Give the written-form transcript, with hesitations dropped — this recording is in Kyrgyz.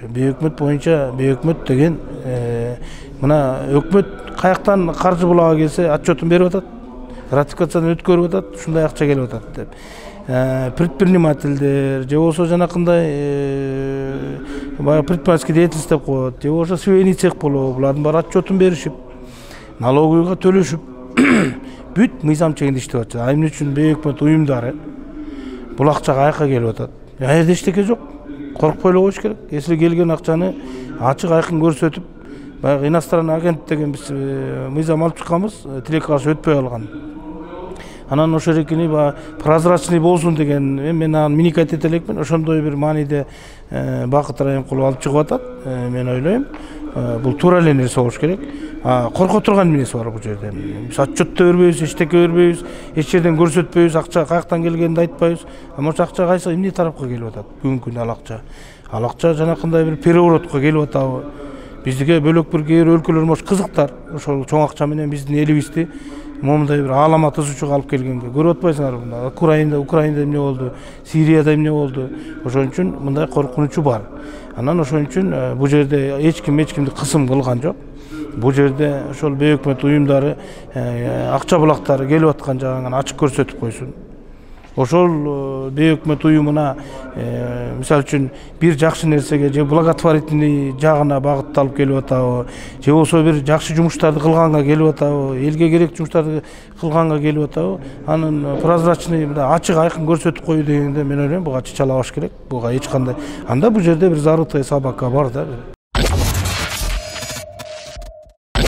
Бейөкмөт боюнча бейөкмөт деген мына өкмөт каяктан каржы булага келсе отчетун берип атат, ратификациядан өткөрүп атат, ушундай акча келип атат деп. Предпринимательдер же болбосо жанакындай предпринимательский деятельность деп коет, же болбосо свейный цех болобу, булардын баары отчетун беришип, налоговыйга төлөшүп, бүт мыйзам чегинде иштеп атышат. А эмне үчүн бейөкмөт уюмдары бул акча каяка келип атат? Жерде эчтеке жок. Коркпой эле коюш керек. Если келген акчаны ачык айкын көрсөтүп, баягы иностранный агент деген биз мыйзам алып чыкканбыз, тилекке каршы өтпөй калган. Анан ошол эркини прозрачный болсун деген мен аны миникать эте элекмин. Ошондой бир мааниде Бакыт Райымкулов алып чыгып атат. Мен ойлойм, бул туура эле нерсе болуш керек. Корко турган эмнеси бар бул жерде? Биз отчет да бербейбиз, эчтеке бербейбиз, эч жерден көрсөтпөйбүз, акча каяктан келгенин айтпайбыз. Ошол акча кайсы эмне тарапка келип атат? Бүгүнкү күндө ал акча. Ал акча жанакындай бир переворотко келип атабы? Биздике бөлөк бир кээ бир өлкөлөр мош кызыктар. Ошол чоң акча менен биздин элибизди момундай бир аалама тызуучуга алып келгенге. Көрүп атпайсыңарбы? Украинада эмне болду? Сирияда эмне болду? Ошон үчүн мындай коркунучу бар. Анан ошон үчүн бул жерде эч кимди кысым кылган жок. Бул жерде ошол бейөкмөт уюмдары акча булактары келип аткан жагын ачык көрсөтүп койсун. Ошол бейөкмөт уюмуна мисалы үчүн бир жакшы нерсеге же благотворительный жагына багытталып келип атабы, же болбосо бир жакшы жумуштарды кылганга келип атабы, элге керек жумуштарды кылганга келип атабы, анын прозрачный ачык айкын көрсөтүп коюу дегенде мен ойлойм буга чычалабаш керек. Буга эч кандай анда бул жерде бир зарытая собака бар да.